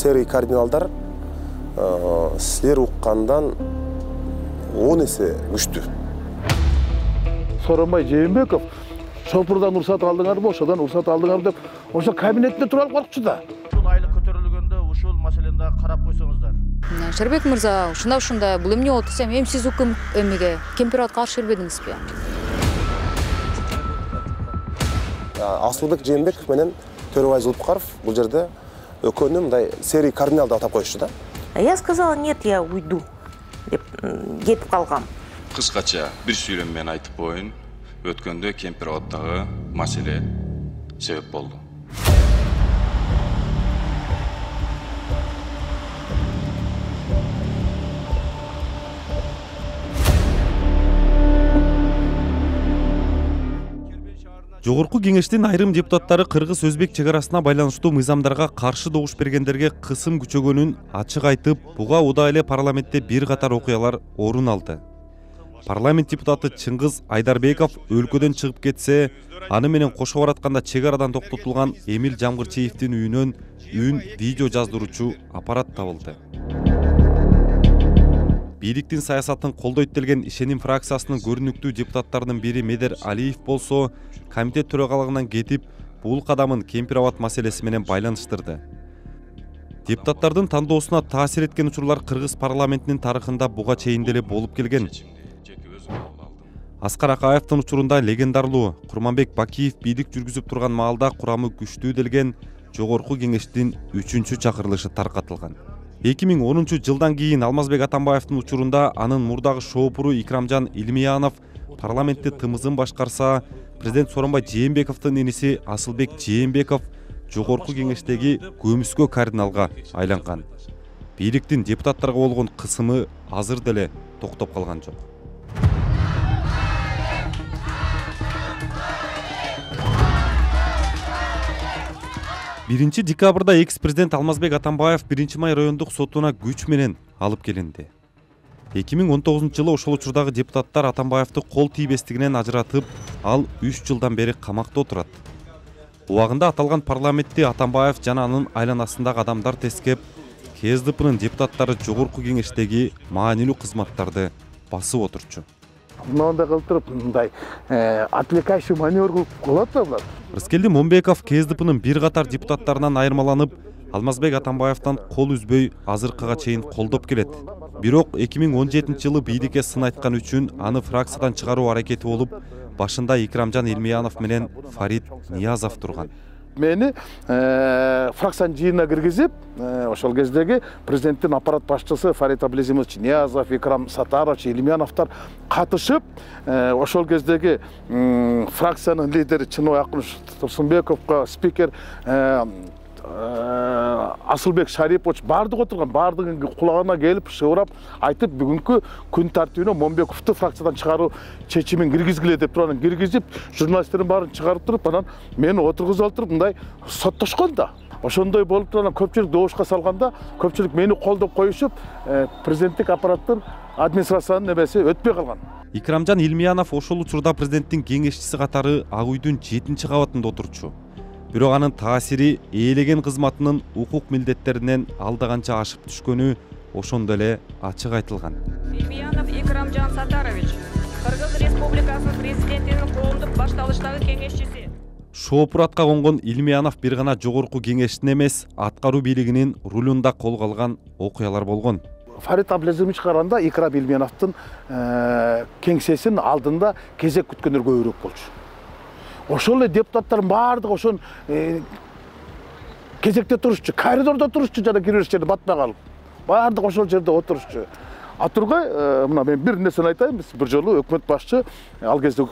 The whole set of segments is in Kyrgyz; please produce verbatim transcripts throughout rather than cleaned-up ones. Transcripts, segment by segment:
серый кардиналдар силер уккандан он эсе күчтүү. Сооронбай Жээнбеков шопурдан уруксат алдыңарбы, ошодон уруксат алдыңарбы деп ошо кабинетте туруп алып коркчу да. Ушул айлык көтөрүлгөндө ушул маселени карап койсоңуздар. Шербек мырза, ушундай ушундай бул эмне болот десем, эми сиз укм эмеге Кемпирабадка каршы бербедиңизби? Асылбек Жээнбеков менен Төрөбай Зулпукаров бул жерде экөөнү мындай серый кардинал деп атап коюшту да. Я сказала, нет, я уйду деп кетип калгам. Кыскача бир сүйлөм менен айтып коеюн, өткөндө Кемпирабаддагы маселе себеп болду. Жогорку кеңештин айрым депутаттары кыргыз-өзбек чек арасына байланыштуу мыйзамдарга каршы добуш бергендерге кысым күчөгөнүн ачык айтып, буга удаа эле парламентте бир катар окуялар орун алды. Парламент депутаты Чыңгыз Айдарбеков өлкөдөн чыгып кетсе, аны менен кошо баратканда чек арадан токтотулган Эмил Жамгырчиевдин үйүнөн үн видео жаздыруучу аппарат табылды. Бийликтин саясатын колдойт делген Ишеним фракциясынын көрүнүктүү депутаттарынын бири Медер Алиев болсо, комитет төрагалыгынан кетип, бул кадамын Кемпирабад маселеси менен байланыштырды. Депутаттардын тандоосуна таасир эткен учурлар кыргыз парламентинин тарыхында буга чейин деле болуп келген. Аскар Акаевдин учурунда легендарлуу Курманбек Бакиев бийлик жүргүзүп турган маалда курамы күчтүү делген жогорку кеңештин үчүнчү чакырылышы таркатылган. эки миң онунчу жылдан кийин Алмазбек Атамбаевдин учурунда анын мурдагы шоопуру Икрамжан Илмиянов парламентте тымызын башкарса, президент Сооронбай Жээнбековдун иниси Асылбек Жээнбеков жогорку кеңештеги көмүскө кардиналга айланган. Бийликтин депутаттарга болгон кысымы азыр деле токтоп калган жок. биринчи декабрда экс-президент Алмазбек Атамбаев биринчи май райондук сотуна күч менен алып келинди. эки миң он тогузунчу жылы ошол учурдагы депутаттар Атамбаевди кол тийбестигинен ажыратып, ал үч жылдан бери камакта отурат. Убагында аталган парламентти Атамбаев жана анын айланасындагы адамдар тескеп, КСДПнын депутаттары жогорку кеңештеги маанилүү кызматтарды басып отурчу. Мындай кылып туруп, мындай отвлекающий маневр кылып болот да булар. Рыскелди Момбеков КСДПнын бир катар депутаттарынан айырмаланып, Алмазбек Атамбаевден кол үзбөй азыркыга чейин колдоп келет. Бирок эки миң он жетинчи жылы бийликке сын айткан үчүн аны фракциядан чыгаруу аракети болуп, башында Икрамжан Илмиянов менен Фарид Ниязов турган. Мени фракциянын жыйынына киргизип, ошол кездеги президенттин аппарат башчысы Фарид Аблезимович Ниязов, Икрам Сатарович, Илмияновдор катышып, ошол кездеги фракциянын лидери Чыныбай Акунович Турсунбековго, спикер Асылбек Шарипович бардыгы отурган, бардыгы кулагына келип, шыбырап айтып, бүгүнкү күн тартибине Момбековду фракциядан чыгаруу чечимин киргизгиле деп туруп, анан киргизип, журналисттердин баарын чыгарып туруп, анан мени отургузуп алып туруп, мындай соттошкон да. Ошондой болуп туруп, анан көпчүлүк добушка салганда, көпчүлүк мени колдоп коюшуп, президенттик аппараттын администрациянын эмеси өтпөй калган. Икрамжан Илмиянов ошол учурда президенттин кеңешчиси катары Ак үйдүн жетинчи кабатында отурчу. Бирок анын таасири ээлеген кызматынын укук милдеттеринен алдаганча ашып түшкөнү ошондо эле ачык айтылган. Илмиянов Икрамжан Сатарович, Кыргыз Республикасынын президентинин коомдук башталыштагы кеңешчиси. Шоопуратка конгон Илмиянов бир гана жогорку кеңештин эмес, аткаруу бийлигинин рулунда колго алган окуялар болгон. Фарид Аблезимович караганда Икрам Илмияновдун кеңсесинин алдында кезек күткөндөр көбүрөөк болчу. Ошол эле депутаттардын баардыгы ошон кезекте турушчу, коридордо турушчу, жана кире бериш жерде батпай калып. Баардыгы ошол жерде отурушчу. А тургай, мына мен бир нерсени айтайын, биз бир жолу өкмөт башчы, ал кезде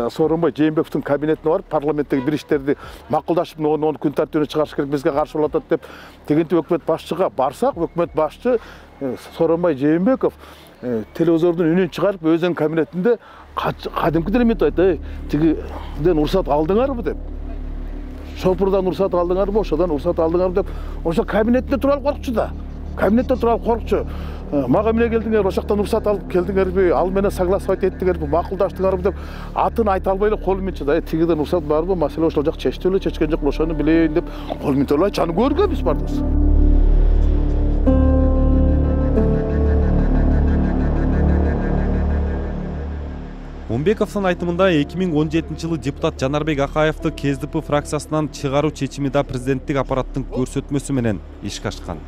Сооронбай Жээнбековдун кабинетине барып, парламенттеги бир иштерди макулдашып, ону күн тартибине чыгарыш керек, бизге каршы болуп атат деп, тегинти өкмөт башчыга барсак, өкмөт башчы Сооронбай Жээнбеков телевизордун үнүн чыгарып, өзүнүн кабинетинде кадимки элемент айтты, тигиден уруксат алдыңарбы деп. Шопурдан уруксат алдыңарбы, ошодон уруксат алдыңарбы деп, ошо кабинетте туруп алып коркчу да. Кабинетте туруп алып коркчу. Мага эмне келдиңер, ошоктон уруксат алып келдиңерби, ал менен согласовать эттиңерби, макулдаштыңарбы деп атын айта албай эле кол менен чыдай, тигиден уруксат барбы, маселе ошол жак чечти беле, чечкен жок, ошону билейин деп кол менен албай чаны көргөнбүз бардыгыбыз. Момбековдун айтымында эки миң он жетинчи жылы депутат Жанарбек Акаевди Ке Эс Ди Пи фракциясынан чыгаруу чечими да президенттик аппараттын көрсөтмөсү менен ишке ашкан.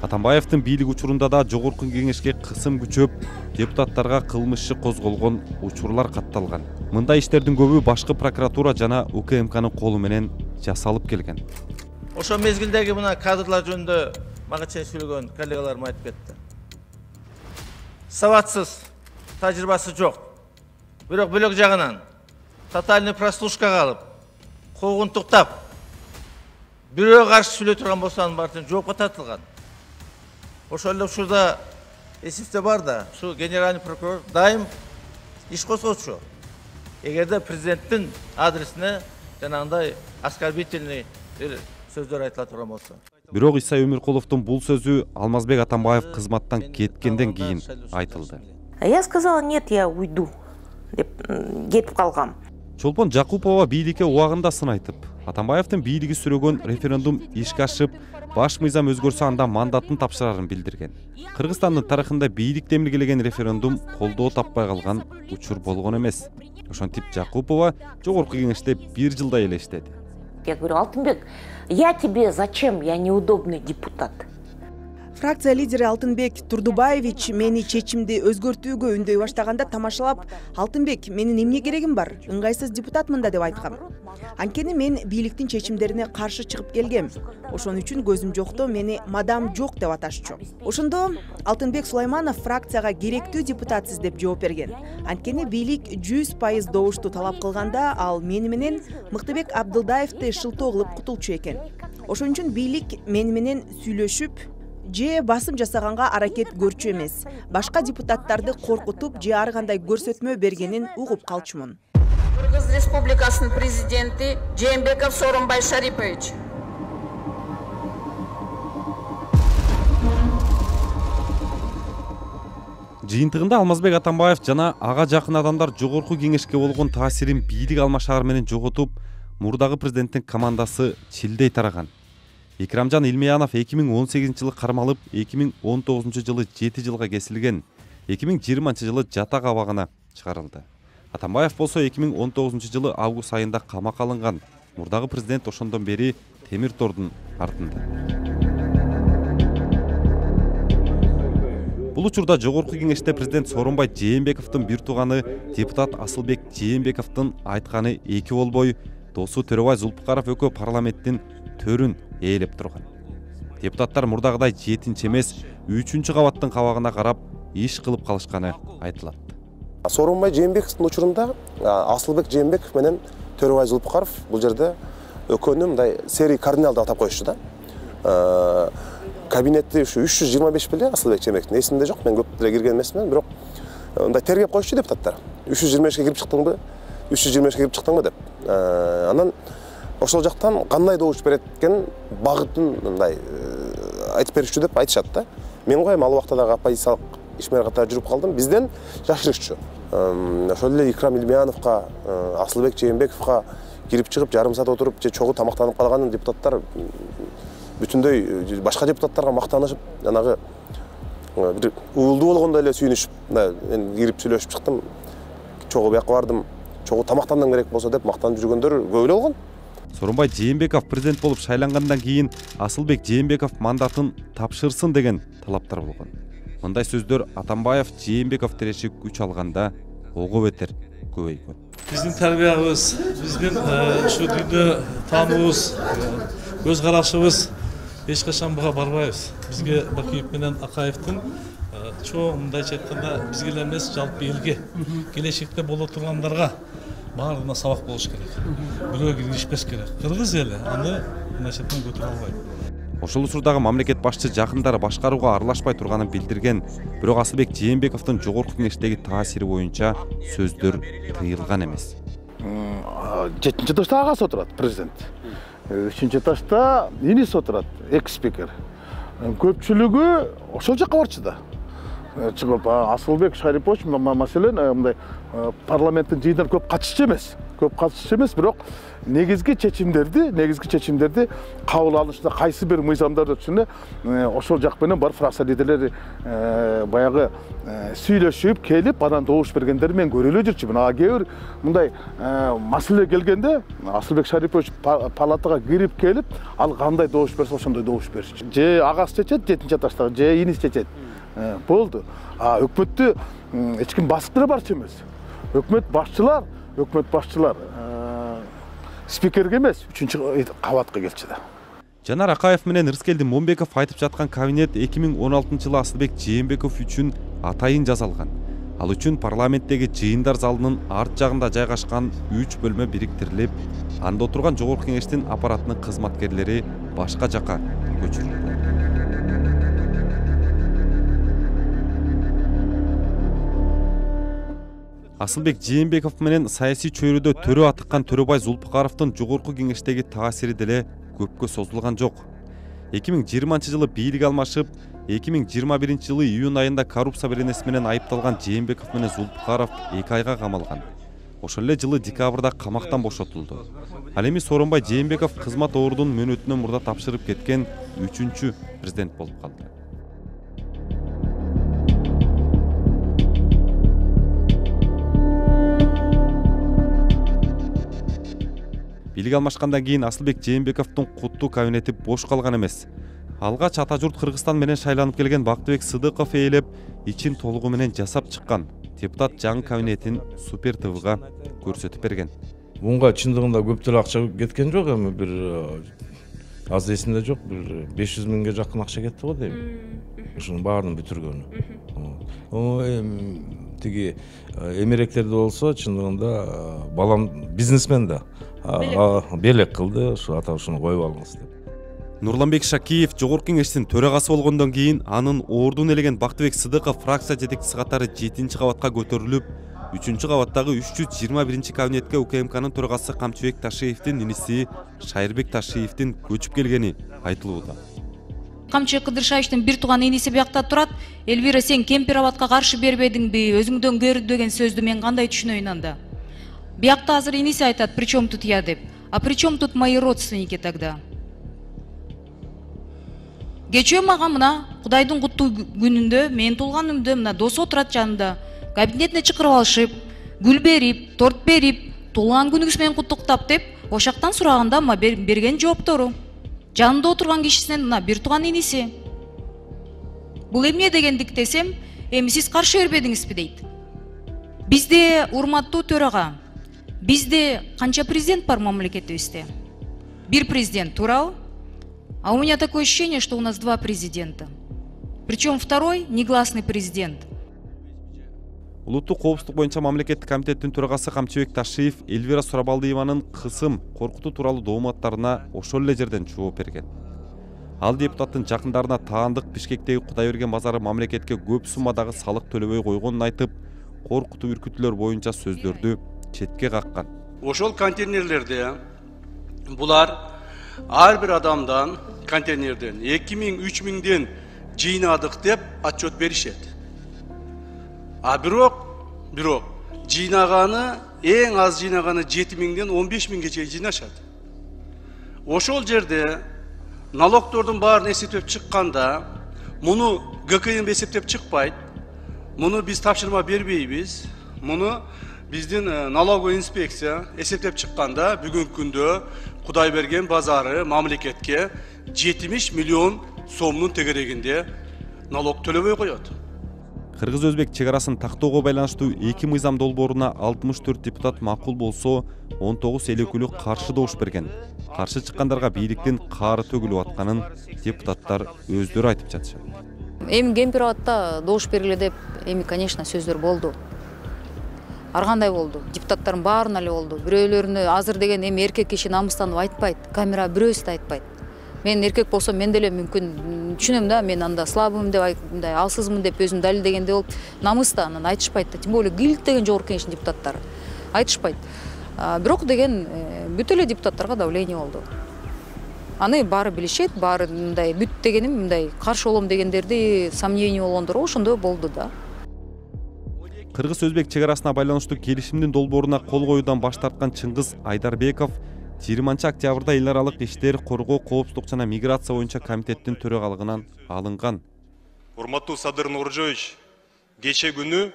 Атамбаевдин бийлик учурунда да жогорку кеңешке кысым күчөп, депутаттарга кылмыш иши козголгон учурлар катталган. Мындай иштердин көбү башкы прокуратура жана У К М Кнын колу менен жасалып келген. Ошо мезгилдеги мына кадрлар жөнүндө мага чейин сүйлөгөн коллегаларым айтып кетти. Сабатсыз, тажрыйбасы жок. Бирок бөлөк жагынан тотальный прослушкага алып, куугунтуктап, бирөө каршы сүйлөй турган болсо анын баардыгы жоопко тартылган. Ошол эле учурда эсипте бар да, ушу генеральный прокурор дайым иш козгочу. Эгерде президенттин адресине жанагындай оскорбительный сөздөр айтыла турган болсо. Бирок Иса Өмүркуловдун бул сөзү Алмазбек Атамбаев кызматтан кеткенден кийин айтылды. Я сказала, нет, я уйду деп кетип калгам. Чолпон Жакупова бийликке убагында сын айтып, Атамбаевдин бийлиги сүрөгөн референдум ишке ашып, баш мыйзам өзгөрсө анда мандатын тапшырарын билдирген. Кыргызстандын тарыхында бийлик демилгелеген референдум колдоо таппай калган учур болгон эмес. Ошентип Жакупова жогорку кеңеште бир жылдай эле иштеди. Я говорю, Алтынбек, я тебе зачем? Я неудобный депутат. Фракция лидери Алтынбек Турдубаевич мени чечимди өзгөртүүгө үндөй баштаганда тамашалап, Алтынбек, менин эмне керегим бар? Ыңгайсыз депутатмын да деп айткам. Анткени мен бийликтин чечимдерине каршы чыгып келгем. Ошон үчүн көзүм жокто мени мадам жок деп аташчу. Ошондо Алтынбек Сулайманов фракцияга керектүү депутатсыз деп жооп берген. Анткени бийлик жүз пайыз добушту талап кылганда ал мени менен Мыктыбек Абдылдаевди шылтоо кылып кутулчу экен. Ошон үчүн бийлик мени менен сүйлөшүп, же басым жасаганга аракет көрчү эмес, башка депутаттарды коркутуп же ар кандай көрсөтмө бергенин угуп калчумун. Кыргыз Республикасынын президенти Жээнбеков Сооронбай Шарипович. Жыйынтыгында Алмазбек Атамбаев жана ага жакын адамдар жогорку кеңешке болгон таасирин бийлик алмашаар менен жоготуп, мурдагы президенттин командасы чилдей тараган. Икрамжан Илмеянов эки миң он сегизинчи жылы кармалып, эки миң он тогузунчу жылы жети жылга кесилген, эки миң жыйырманчы жылы жатак абагына чыгарылды. Атамбаев болсо эки миң он тогузунчу жылы август айында камакка алынган. Мурдагы президент ошондон бери темир тордун артында. Бул учурда жогорку кеңеште президент Сооронбай Жээнбековдун бир тууганы депутат Асылбек Жээнбековдун айтканы эки болбой, досу Төрөбай Зулпукаров экөө парламенттин төрүн ээлеп турган. Депутаттар мурдагыдай жетинчи эмес, үчүнчү кабаттын кабагына карап иш кылып калышканы айтылат. Сооронбай Жээнбековдун учурунда Асылбек Жээнбеков менен Төрөбай Зулпукаров бул жерде экөөнү мындай серий кардинал деп атап коюшту да. Кабинетти ушу үч жүз жыйырма беш беле Асылбек Жээнбековдун эсимде жок, мен көп деле кирген эмесмин, бирок мындай тергеп коюшту депутаттар. үч жүз жыйырма бешке кирип чыктыңбы? үч жүз жыйырма бешке кирип чыктыңбы деп. Анан ошол жактан кандай добуш берет экен багытын мындай айтып беришчү деп айтышат да. Мен коем ал убакта дагы оппозициялык ишмер катары жүрүп калдым. Бизден жашырышчу. Ошол эле Икрам Илмеяновго, Асылбек Жээнбековго кирип чыгып жарым саат отуруп же чогуу тамактанып калган депутаттар бүтүндөй башка депутаттарга мактанышып, жанагы бир уулдуу болгондой эле сүйүнүшүп, мен кирип сүйлөшүп чыктым. Чогуу бияка бардым, чогуу тамактандым керек болсо деп мактанып жүргөндөр көп эле болгон. Сооронбай Жээнбеков президент болуп шайлангандан кийин Асылбек Жээнбеков мандатын тапшырсын деген талаптар болгон. Мындай сөздөр Атамбаев Жээнбеков тереши күч алганда ого бетер көбөйгөн. Биздин тарбиябыз, биздин ушу дүйнө таануубуз, көз карашыбыз эч качан буга барбайбыз. Бизге Бакиев менен Акаевдин чоң мындайча айтканда бизге эле эмес, жалпы элге, келечекте боло тургандарга баарына сабак болуш керек. Бирөө киришпеш керек. Кыргыз эли аны мындайча айтканда көтөрө албайт. Ошол учурдагы мамлекет башчы жакындары башкарууга аралашпай турганын билдирген, бирок Асылбек Жээнбековдун жогорку кеңештеги таасири боюнча сөздөр тыйылган эмес. Жетинчи этажда агасы отурат президент. Үчүнчү этажда иниси отурат, экс-спикер. Көпчүлүгү ошол жакка барчу да. Чыгып Асылбек Шарипович маселен мындай парламенттин жыйындарына көп катышчу эмес. көп катышчу эмес, бирок негизги чечимдерди, негизги чечимдерди кабыл алышта кайсы бир мыйзамдар өтүшүнө ошол жак менен бар фракция лидерлери баягы сүйлөшүп келип, анан добуш бергендери мен көрө эле жүрчүмүн. А кээ бир мындай маселе келгенде Асылбек Шарипович палатага кирип келип, ал кандай добуш берсе ошондой добуш берчү. Же агасы чечет жетинчи этаждагы, же иниси чечет. Болду. А өкмөттү эч ким басыктыра барчу эмес. Өкмөт башчылар, өкмөт башчылар спикерге эмес, үчүнчү кабатка келчү да. Жанар Акаев менен Рыскелди Момбеков айтып жаткан кабинет эки миң он алтынчы жылы Асылбек Жээнбеков үчүн атайын жасалган. Ал үчүн парламенттеги жыйындар залынын арт жагында жайгашкан үч бөлмө бириктирилип, анда отурган жогорку кеңештин аппаратынын кызматкерлери башка жака көчүрүлдү. Асылбек Жээнбеков менен саясий чөйрөдө төрө атыккан Төрөбай Зулпукаровдун жогорку кеңештеги таасири деле көпкө созулган жок. эки миң жыйырманчы жылы бийлик алмашып, эки миң жыйырма биринчи жылы июнь айында коррупция беренеси менен айыпталган Жээнбеков менен Зулпукаров эки айга камалган. Ошол эле жылы декабрда камактан бошотулду. Ал эми Сооронбай Жээнбеков кызмат ордун мөөнөтүнөн мурда тапшырып кеткен үчүнчү президент болуп калды. Бийлик алмашкандан кийин Асылбек Жээнбековдун куттуу кабинети бош калган эмес. Алгач ата журт Кыргызстан менен шайланып келген Бактыбек Сыдыков ээлеп, ичин толугу менен жасап чыккан депутат жаңы кабинетин Супер ТВга көрсөтүп берген. Мунга чындыгында көп деле акча кеткен жок, эми бир аз эсимде жок, бир беш жүз миңге жакын акча кетти го дейм. Ушунун баарын бүтүргөнү. Эми тиги эмеректерде болсо чындыгында балам бизнесмен да. Белек кылды, ушу ата ушуну коюп алыңыз деп. Нурланбек Шакиев жогорку кеңештин төрагасы болгондон кийин анын ордун элеген Бактыбек Сыдыков фракция жетекчиси катары жетинчи кабатка көтөрүлүп, үчүнчү кабаттагы үч жүз жыйырма биринчи кабинетке УКМКнын төрагасы Камчыбек Ташиевдин иниси Шайырбек Ташиевдин көчүп келгени айтылууда. Камчыбек Кыдыршаевичтин бир тууган иниси биякта турат. Элвира, сен Кемпир-Абадка каршы бербедиңби, өзүңдөн көрдү деген сөздү мен кандай түшүнөйүн анда? Биякта азыр иниси айтат, при чем тут я деп. А при чем тут мои родственники тогда? Кечөө мага мына Кудайдын куттуу күнүндө, мен туулганымда мына дос отурат жанымда. Кабинетине чакырып алышып, гүл берип, торт берип, туулган күнүңүз менен куттуктап деп, ошактан сураганда ма берген жооптору. Жанында отурган кишисинен мына бир тууган иниси. Бул эмне дегендик десем, эми сиз каршы бербедиңизби дейт. Бизде, урматтуу төрага, бизде канча президент бар мамлекетибизде? Бир президент, туурабы? А у меня такое ощущение, что у нас два президента. Причем второй негласный президент. Улуттук коопсуздук боюнча мамлекеттик комитеттин төрагасы Камчыбек Ташиев Элвира Сурабалдиеванын кысым, коркутуу тууралуу дооматтарына ошол эле жерден жооп берген. Ал депутаттын жакындарына таандык Бишкектеги Кудайберген базары мамлекетке көп суммадагы салык төлөбөй койгонун айтып, коркутуу үркүтүүлөр боюнча сөздөрдү четке каккан. Ошол контейнерлерде булар ар бир адамдан контейнерден эки миң үч миңден жыйнадык деп отчет беришет. А бирок, бирок жыйнаганы эң аз жыйнаганы жети миңден он беш миңге чейин жыйнашат. Ошол жерде налогтордун баарын эсептеп чыкканда, муну ГКМ эсептеп чыкпайт. Муну биз тапшырма бербейбиз. Муну биздин налоговый инспекция эсептеп чыкканда бүгүнкү күндө Кудайберген базары мамлекетке жетимиш миллион сомдун тегерегинде налог төлөбөй коет. Кыргыз-Өзбек чек арасын тактоого байланыштуу эки мыйзам долбооруна алтымыш төрт депутат макул болсо, он тогуз эл өкүлү каршы добуш берген. Каршы чыккандарга бийликтин каары төгүлүп атканын депутаттар өздөрү айтып жатышат. Эми Кемпир-Абадта добуш бергиле деп, эми конечно сөздөр болду. Ар кандай болду. Депутаттардын баарына эле болду. Бирөөлөрүнө азыр деген эми эркек киши намыстанып айтпайт. Камера бирөөсү да айтпайт. Мен эркек болсом мен деле мүмкүн түшүнөм да, мен анда слабымын деп, мындай алсызмын деп өзүм далилдегенде болуп, намыста анан айтышпайт да. Тем более ГИЛК деген жогорку кеңештин депутаттары айтышпайт. Бирок деген бүт эле депутаттарга давление болду. Аны баары билишет, баары мындай бүт дегеним мындай каршы болом дегендерди сомнение болгондор ошондой болду да. Кыргыз-өзбек чек арасына байланыштуу келишимдин долбооруна кол коюудан баш тарткан Чыңгыз Айдарбеков жыйырманчы октябрда эл аралык иштер, коргоо, коопсуздук жана миграция боюнча комитеттин төрагалыгынан алынган. Урматтуу Садыр Нуржоевич, кече күнү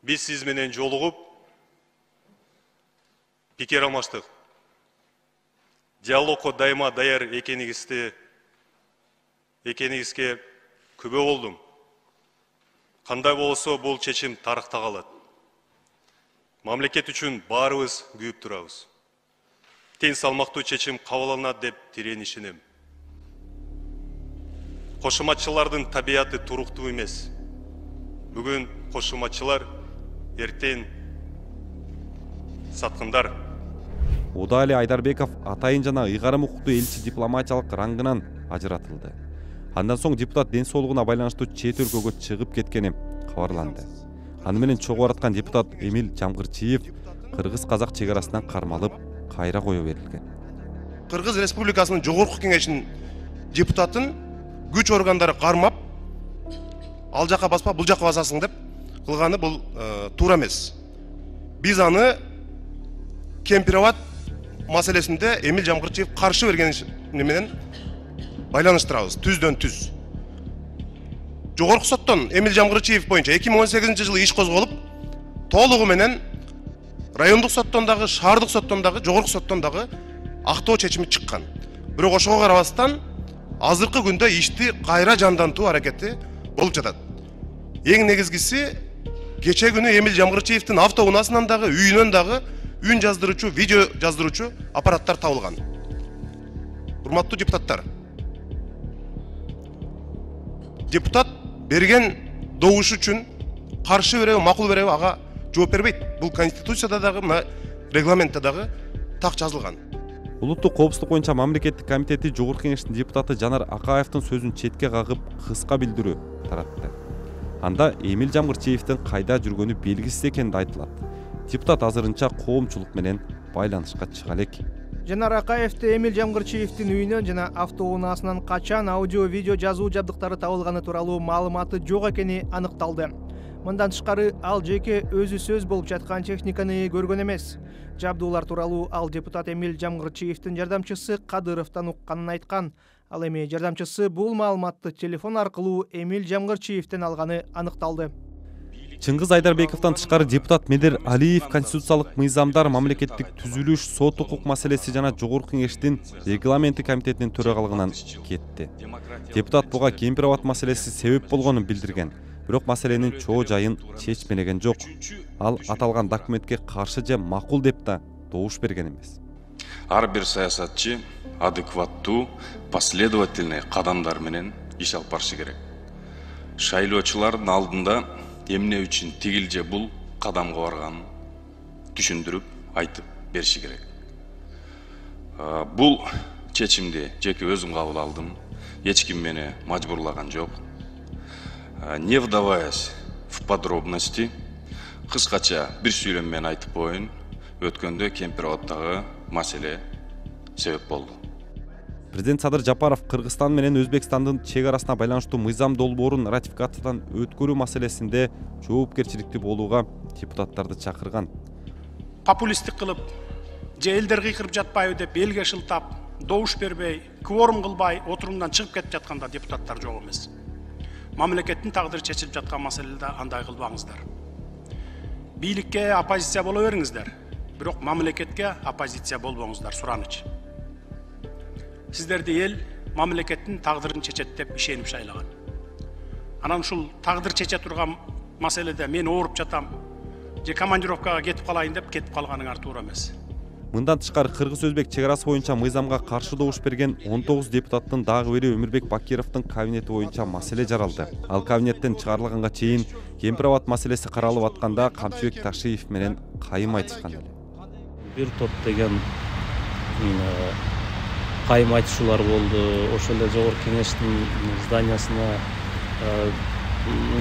биз сиз менен жолугуп пикир алмаштык. Диалогко дайыма даяр экениңизди экениңизге күбө болдум. Кандай болсо бул чечим тарыхта калат. Мамлекет үчүн баарыбыз күйүп турабыз. Тең салмактуу чечим кабыл алынат деп терең ишенем. Кошуматчылардын табияты туруктуу эмес. Бүгүн кошуматчылар, эртең саткындар. Удали Айдарбеков атайын жана ыйгарым укуктуу элчи дипломатиялык рангынан ажыратылды. Андан соң депутат ден соолугуна байланыштуу чет өлкөгө чыгып кеткени кабарланды. Аны менен чогуу бараткан депутат Эмил Жамгырчиев кыргыз-казак чек арасынан кармалып, кайра кое берилген. Кыргыз Республикасынын жогорку кеңешинин депутатын күч органдары кармап, ал жака баспа, бул жака басасың деп кылганы бул туура эмес. Биз аны Кемпироват маселесинде Эмил Жамгырчиев каршы берген менен байланыштырабыз, түздөн түз. Жогорку соттон Эмил Жамгырчиев боюнча эки миң он сегизинчи жылы иш козголуп, толугу менен райондук соттон дагы, шаардык соттон дагы, жогорку соттон дагы актоо чечими чыккан. Бирок ошого карабастан азыркы күндө ишти кайра жандантуу аракети болуп жатат. Эң негизгиси кече күнү Эмил Жамгырчиевдин автоунаасынан дагы, үйүнөн дагы үн жаздыруучу, видео жаздыруучу аппараттар табылган. Урматтуу депутаттар, депутат берген добуш үчүн каршы береби, макул береби ага жооп бербейт. Бул конституцияда дагы, мына регламентте дагы так жазылган. Улуттук коопсуздук боюнча мамлекеттик комитети жогорку кеңештин депутаты Жанар Акаевдин сөзүн четке кагып, кыска билдирүү таратты. Анда Эмил Жамгырчиевдин кайда жүргөнү белгисиз экени айтылат. Депутат азырынча коомчулук менен байланышка чыга элек. Жанар Акаевди Эмил Жамгырчиевдин үйүнөн жана автоунаасынан качан аудио-видео жазуу жабдыктары табылганы тууралуу маалыматы жок экени аныкталды. Мындан тышкары ал жеке өзү сөз болуп жаткан техниканы көргөн эмес. Жабдуулар тууралуу ал депутат Эмил Жамгырчиевдин жардамчысы Кадыровдон укканын айткан. Ал эми жардамчысы бул маалыматты телефон аркылуу Эмил Жамгырчиевден алганы аныкталды. Чыңгыз Айдарбековдон тышкары депутат Медер Алиев конституциялык мыйзамдар, мамлекеттик түзүлүш, сот укук маселеси жана жогорку кеңештин регламенти комитетинин төрагалыгынан кетти. Депутат буга Кемпироват маселеси себеп болгонун билдирген, бирок маселенин чоо жайын чечмелеген жок. Ал аталган документке каршы же макул деп да добуш берген эмес. Ар бир саясатчы адекваттуу, последовательный кадамдар менен иш алып барышы керек. Шайлоочулардын алдында эмне үчүн тигил же бул кадамга барганын түшүндүрүп айтып бериши керек. Бул чечимди жеке өзүм кабыл алдым. Эч ким мени мажбурлаган жок. Не вдаваясь в подробности, кыскача бир сүйлөм менен айтып коеюн. Өткөндө Кемпироваттагы маселе себеп болду. Президент Садыр Жапаров Кыргызстан менен Өзбекстандын чек арасына байланыштуу мыйзам долбоорун ратификациядан өткөрүү маселесинде жоопкерчиликтүү болууга депутаттарды чакырган. Популисттик кылып, же элдер кыйкырып жатпайбы деп элге шылтап, добуш бербей, кворум кылбай отурумдан чыгып кетип жатканда депутаттар жок эмес. Мамлекеттин тагдыры чечилип жаткан маселеде андай кылбаңыздар. Бийликке оппозиция боло бериңиздер, бирок мамлекетке оппозиция болбоңуздар, сураныч. Сиздерди эл мамлекеттин тагдырын чечет деп ишенип шайлаган. Анан ушул тагдыр чече турган маселеде мен ооруп жатам, же командировкага кетип калайын деп кетип калганыңар туура эмес. Мындан тышкары кыргыз-өзбек чек арасы боюнча мыйзамга каршы добуш берген он тогуз депутаттын дагы бири Өмүрбек Бакировдун кабинети боюнча маселе жаралды. Ал кабинеттен чыгарылганга чейин Кемпироват маселеси каралып атканда Камчыбек Ташиев менен кайым айтышкан эле. Бир топ деген кайым айтышуулар болду. Ошол эле жогорку кеңештин зданиясына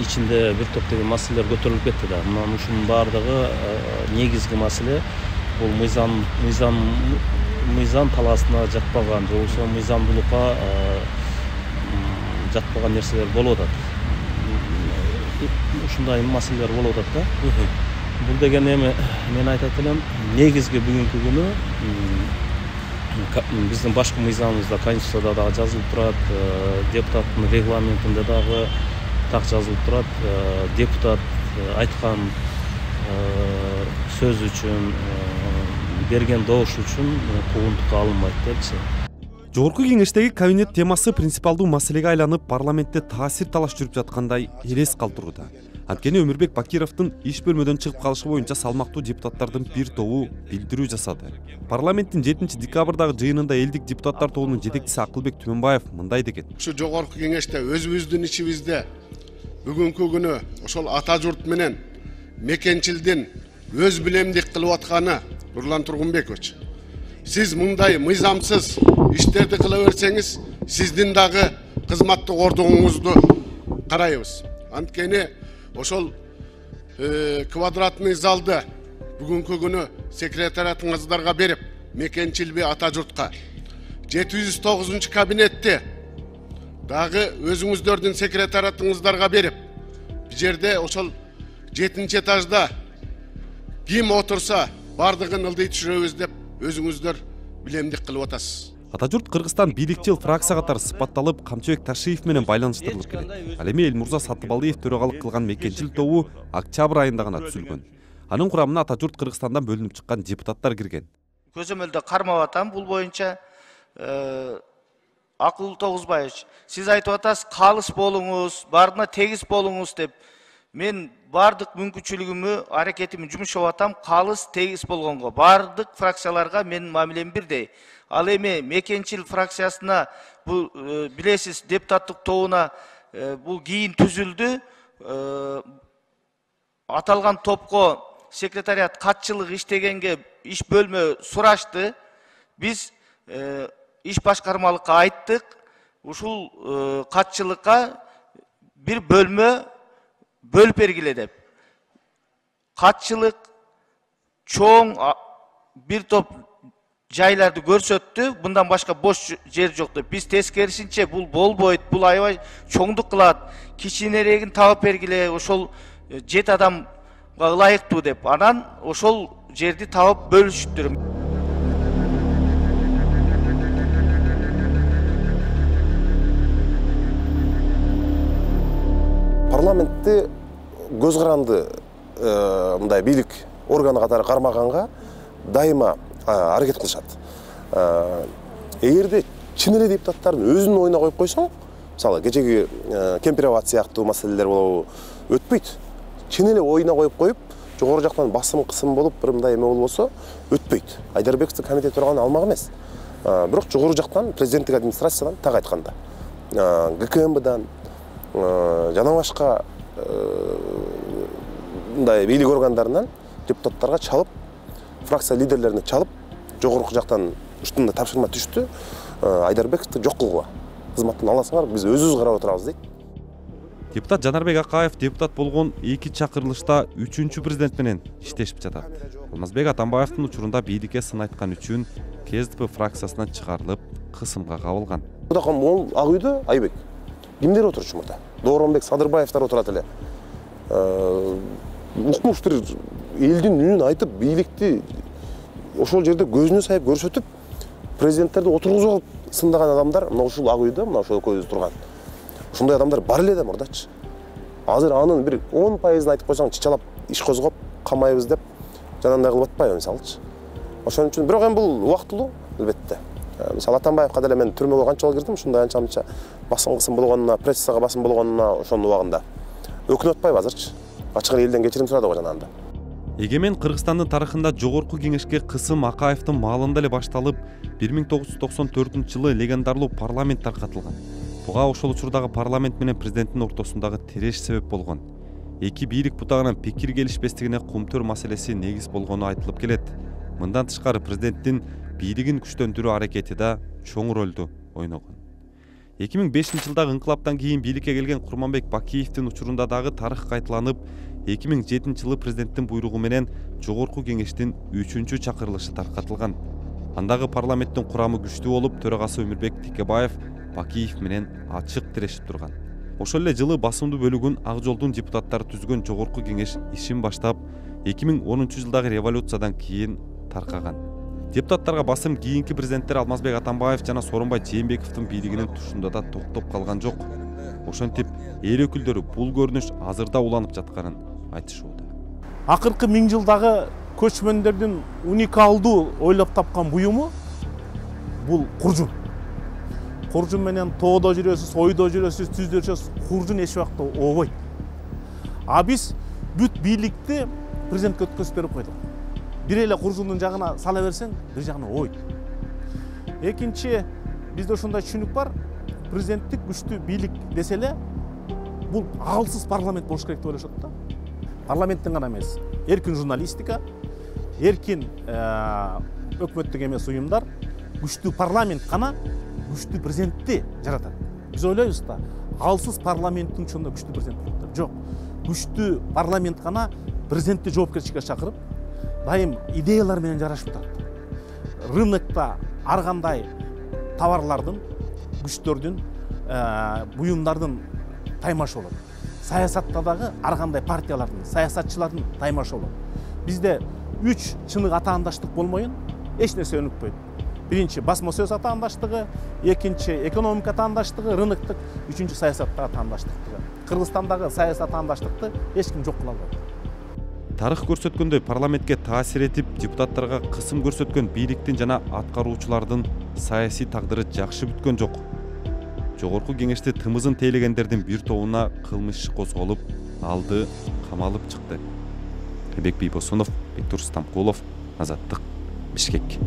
ичинде бир топ деген маселелер көтөрүлүп кетти да. Мына ушунун баардыгы негизги маселе бул мыйзам мыйзам мыйзам талаасына жатпаган, же болбосо мыйзамдуулукка жатпаган нерселер болуп атат. ушундай маселелер болуп атат да. Бул деген эми мен айтат элем, негизги бүгүнкү күнү биздин башкы мыйзамыбызда, Конституцияда дагы жазылып турат, депутаттын регламентинде дагы так жазылып турат. Депутат айткан сөз үчүн, берген добуш үчүн куугунтукка алынбайт депчи. Жогорку кеңештеги кабинет темасы принципиалдуу маселеге айланып, парламентте таасир талаш жүрүп жаткандай элес калтырууда. Анткени Өмүрбек Бакировдун иш бөлмөдөн чыгып калышы боюнча салмактуу депутаттардын бир тобу билдирүү жасады. Парламенттин жетинчи декабрдагы жыйынында элдик депутаттар тобунун жетекчиси Акылбек Түмөнбаев мындай деген. Ушу жогорку кеңеште өзүбүздүн ичибизде бүгүнкү күнү ошол ата журт менен мекенчилдин өз билемдик кылып атканы Нурлан Тургунбекович, сиз мындай мыйзамсыз иштерди кыла берсеңиз, сиздин дагы кызматтык ордуңуңузду карайбыз. Анткени ошол квадратный залды бүгүнкү күнү секретариатыңыздарга берип, мекенчилби ата журтка жети жүз тогузунчу кабинетти дагы өзүңүздөрдүн секретариатыңыздарга берип, бул жерде ошол жетинчи этажда ким отурса бардыгын ылдый түшүрөбүз деп өзүңүздөр билемдик кылып атасыз. Ата журт Кыргызстан бийликчил фракция катары сыпатталып, Камчыбек Ташиев менен байланыштырылып келет. Ал эми Элмурза Сатыбалдиев төрагалык кылган мекенчил тобу октябрь айында гана түзүлгөн. Анын курамына ата журт Кыргызстандан бөлүнүп чыккан депутаттар кирген. Көзөмөлдө кармап атам, бул боюнча Акыл Тогузбаевич, сиз айтып атасыз, калыс болуңуз, баарына тегиз болуңуз деп. Мен бардык мүмкүнчүлүгүмө, аракетимди жумшап атам, калыс тегиз болгонго. Бардык фракцияларга менин мамилем бирдей. Ал эми мекенчил фракциясына бул билесиз депутаттык тобуна бул кийин түзүлдү. Аталган топко секретариат катчылык иштегенге иш бөлмө сурашты. Биз иш башкармалыкка айттык. Ушул катчылыкка бир бөлмө бөлүп бергиле деп. Катчылык чоң бир топ жайларды көрсөттү, мындан башка бош жер жок деп. Биз тескерисинче бул болбойт, бул аябай чоңдук кылат, кичинерегин таап бергиле, ошол жети адамга ылайыктуу деп. Анан ошол жерди таап бөлүшүптүр. Парламентти көз каранды мындай бийлик органы катары кармаганга дайыма аракет кылышат. Эгерде чын эле депутаттардын өзүнүн оюна коюп койсоң, мисалы кечеги кемпироват сыяктуу маселелер болобу, өтпөйт. Чын эле оюна коюп коюп, жогору жактан басым кысым болуп, бир мындай эме болбосо, өтпөйт. Айдарбековдун комитет турганы алмак эмес. Бирок жогору жактан президенттик администрациядан так айтканда, ГКМБдан жана башка мындай бийлик органдарынан депутаттарга чалып, фракция лидерлерине чалып, жогорку жактан ушундай тапшырма түштү, Айдарбековду жок кылгыла. Кызматтан аласыңар, биз өзүбүз карап отурабыз дейт. Депутат Жанарбек Акаев депутат болгон эки чакырылышта үчүнчү президент менен иштешип жатат. Алмазбек Атамбаевдин учурунда бийликке сын айткан үчүн КСДП фракциясынан чыгарылып, кысымга кабылган. Могул Ак үйдө Айбек кимдер отурчу мурда? Дооронбек Садырбаевдер отурат эле. Укмуш бир элдин үнүн айтып, бийликти ошол жерде көзүнө сайып көрсөтүп, президенттерди отургузуп алып сындаган адамдар мына ушул Ак үйдө, мына ошол көзү турган. Ушундай адамдар бар эле да мурдачы. Азыр анын бир он пайызын айтып койсоң, чычалап иш козгоп камайбыз деп жанагындай кылып атпайбы мисалы. Ошон үчүн бирок эми бул убактылуу албетте. Мисалы Атамбаевка деле мен түрмөгө канча жолу кирдим, ушундай анча-мынча басым кысым болгонуна, прессага басым болгонуна ошонун убагында. Өкүнүп атпайбы азырчы? Ачык элден кечирим сурады го жанагында. Эгемен Кыргызстандын тарыхында жогорку кеңешке кысым Акаевдин маалында эле башталып, бир миң тогуз жүз токсон төртүнчү жылы легендарлуу парламент таркатылган. Буга ошол учурдагы парламент менен президенттин ортосундагы тереш себеп болгон. Эки бийлик бутагынан пикир келишпестигине кумтөр маселеси негиз болгону айтылып келет. Мындан тышкары президенттин бийлигин күчтөндүрүү аракети да чоң ролду ойногон. эки миң бешинчи жылдагы инкылаптан кийин бийликке келген Курманбек Бакиевдин учурунда дагы тарых кайталанып, эки миң жетинчи жылы президенттин буйругу менен жогорку кеңештин үчүнчү чакырылышы таркатылган. Андагы парламенттин курамы күчтүү болуп, төрагасы Өмүрбек Текебаев Бакиев менен ачык тирешип турган. Ошол эле жылы басымдуу бөлүгүн Ак Жолдун депутаттары түзгөн жогорку кеңеш ишин баштап эки миң онунчу жылдагы революциядан кийин таркаган. Депутаттарга басым кийинки президенттер Алмазбек Атамбаев жана Сооронбай Жээнбековдун бийлигинин тушунда да токтоп калган жок. Ошентип эл өкүлдөрү бул көрүнүш азырда уланып жатканын айтышууда. Акыркы миң жылдагы көчмөндөрдүн уникалдуу ойлоп тапкан буюму бул куржун. Куржун менен тоодо жүрөсүз, ойдо жүрөсүз, түздө жүрөсүз, куржун эч убакта ообойт. А биз бүт бийликти президентке өткөзүп берип койдук. Бир эле куржундун жагына сала берсең, бир жагына ойт. Экинчи, бизде ушундай түшүнүк бар, президенттик күчтүү бийлик десе эле, бул аалсыз парламент болуш керек деп ойлошот да. Парламенттин гана эмес, эркин журналистика, эркин өкмөттүк эмес уюмдар, күчтүү парламент гана күчтүү президентти жаратат. Биз ойлойбуз да, аалсыз парламенттин чынында күчтүү президент болот. Жок. Күчтүү парламент гана президентти жоопкерчиликке чакырып, дайым идеялар менен жарашып турат. Рынокто ар кандай товарлардын, күчтөрдүн, буюмдардын таймашы болот. Саясатта дагы ар кандай партиялардын, саясатчылардын таймашы болот. Бизде үч чынык атаандаштык болмоюн, эч нерсе өнүкпөйт. Биринчи басма сөз атаандаштыгы, экинчи экономика атаандаштыгы, рыноктук, үчүнчү саясаттагы атаандаштыгы. Кыргызстандагы саясий атаандаштыкты эч ким жок кыла албайт. Тарых көрсөткөндөй парламентке таасир этип, депутаттарга кысым көрсөткөн бийликтин жана аткаруучулардын саясий тагдыры жакшы бүткөн жок. Жогорку кеңеште тымызын тейлегендердин бир тобуна кылмыш иш козголуп, алды камалып чыкты. Элбек Бийбосунов, Бектур Стамкулов, Азаттык, Бишкек.